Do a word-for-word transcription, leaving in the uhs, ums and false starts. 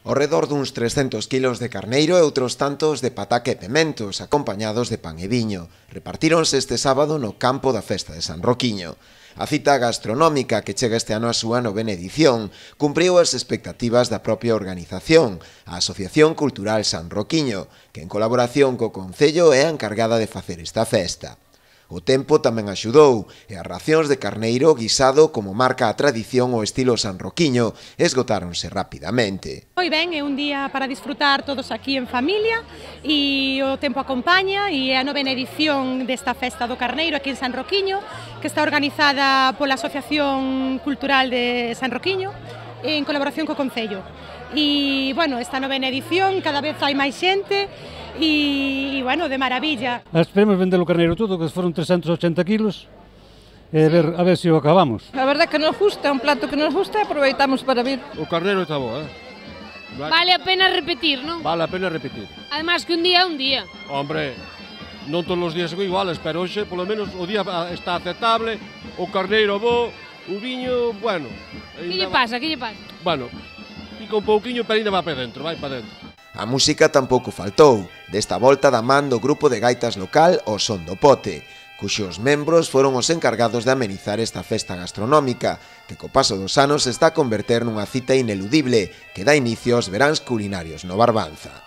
Ao redor duns trescentos quilos de carneiro e outros tantos de pataca e pementos, acompañados de pan e viño. Repartíronse este sábado no campo da festa de San Roquiño. A cita gastronómica, que chega este ano a súa novena edición, cumpriu as expectativas da propia organización, a Asociación Cultural San Roquiño, que en colaboración co Concello é a encargada de facer esta festa. O tempo tamén axudou e as racións de carneiro guisado, como marca a tradición o estilo sanroquiño, esgotáronse rapidamente. Moi ben, é un día para disfrutar todos aquí en familia e o tempo acompaña e é a novena edición desta festa do carneiro aquí en San Roquiño, que está organizada pola Asociación Cultural de San Roquiño en colaboración co Concello. E, bueno, esta novena edición cada vez hai máis xente e, bueno, de maravilla. Esperemos vender o carneiro todo, que foron trescentos e ochenta kilos, e ver, a ver se o acabamos. A verdade que nos gusta, é un plato que nos gusta e aproveitamos para vir. O carneiro está bo, eh? Vale a pena repetir, non? Vale a pena repetir. Además que un día é un día. Hombre, non todos os días son iguales, pero hoxe, polo menos, o día está aceptable, o carneiro bo, o viño, bueno. Que lle pasa, que lle pasa? Bueno, pica un pouquiño, pero ainda va para dentro, vai para dentro. A música tampouco faltou, desta volta da man do grupo de gaitas local O Son do Pote, cuxos membros foron os encargados de amenizar esta festa gastronómica, que co paso dos anos se está a converter nunha cita ineludible que dá inicio aos veráns culinarios no Barbanza.